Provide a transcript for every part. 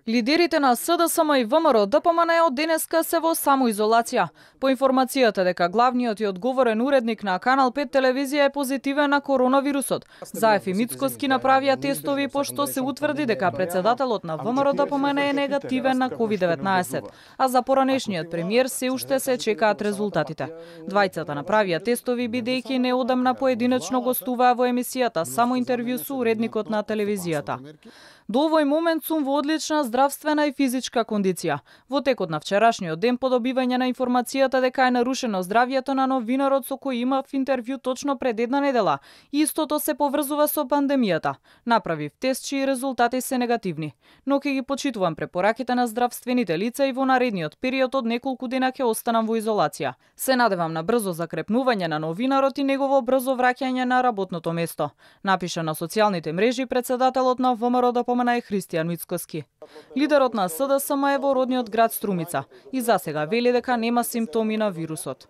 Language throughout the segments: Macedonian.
Лидерите на СДСМ и ВМРО ДПМН од денеска се во самоизолација. По информацијата дека главниот и одговорен уредник на Канал 5 телевизија е позитивен на коронавирусот, Заев и Мицкоски направија тестови пошто се утврди дека председателот на ВМРО ДПМН е негативен на COVID-19, а за поранешниот премиер се уште се чекаат резултатите. Двајцата направија тестови бидејќи неодамна поединечно гостуваа во емисијата Само интервју со уредникот на телевизијата. До овој момент сум во одлична здравствена и физичка кондиција. Во текот на вчерашниот ден по добивање на информацијата дека е нарушено здравјето на новинарот со кој имав интервју точно пред една недела, истото се поврзува со пандемијата. Направив тест чии резултати се негативни, но ќе ги почитувам препораките на здравствените лица и во наредниот период од неколку дена ќе останам во изолација. Се надевам на брзо закрепнување на новинарот и негово брзо враќање на работното место, напиша на социјалните мрежи председателот на ВМРО ДПМН Христијан Мицкоски. Лидерот на СДСМ е во родниот град Струмица и засега вели дека нема симптоми на вирусот.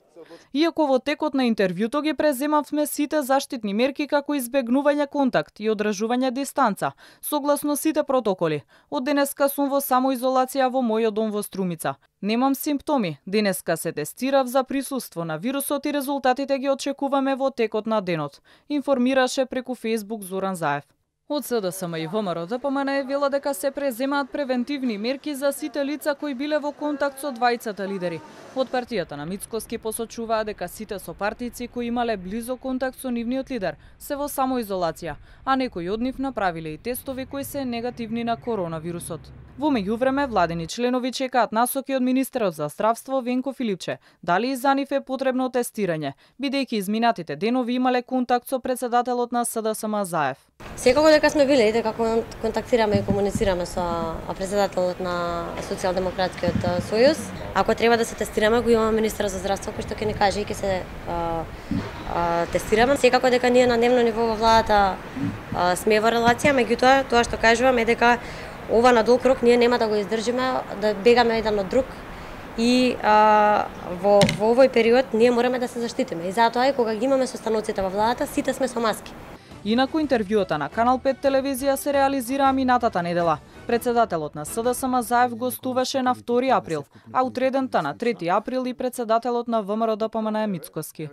Иако во текот на интервјуто ги преземавме сите заштитни мерки како избегнување контакт и одржување дистанца, согласно сите протоколи. Од денеска сум во самоизолација во мојот дом во Струмица. Немам симптоми. Денеска се тестирав за присуство на вирусот и резултатите ги очекуваме во текот на денот, информираше преку Facebook Зоран Заев. Од СДСМ и ВМРО ДПМН вела дека се преземаат превентивни мерки за сите лица кои биле во контакт со двајцата лидери. Од партијата на Мицкоски посочуваа дека сите сопартици кои имале близо контакт со нивниот лидер се во самоизолација, а некои од нив направиле и тестови кои се негативни на коронавирусот. Во меѓувреме, владени членови чекаат насоки од министерот за здравство Венко Филипче, дали и за нив е потребно тестирање, бидејќи изминатите денови имале контакт со председателот на СДСМ Заев. Секако дека сме биле и дека контактираме и комуницираме со председателот на Социјалдемократскиот сојуз. Ако треба да се тестираме, го имаме министер за здравство кој што ќе ни каже и ќе се тестираме. Секако дека ние на дневно ниво во владата сме во релација, меѓутоа тоа што кажувам е дека ова на долг рок ние нема да го издржиме, да бегаме еден од друг и во овој период ние мораме да се заштитиме. И затоа и кога ги имаме состаноците во владата, сите сме со маски. Инаку интервјуата на Канал 5 телевизија се реализираа минатата недела. Председателот на СДСМ Заев гостуваше на 2 април, а утредента на 3 април и председателот на ВМРО ДПМН Мицкоски.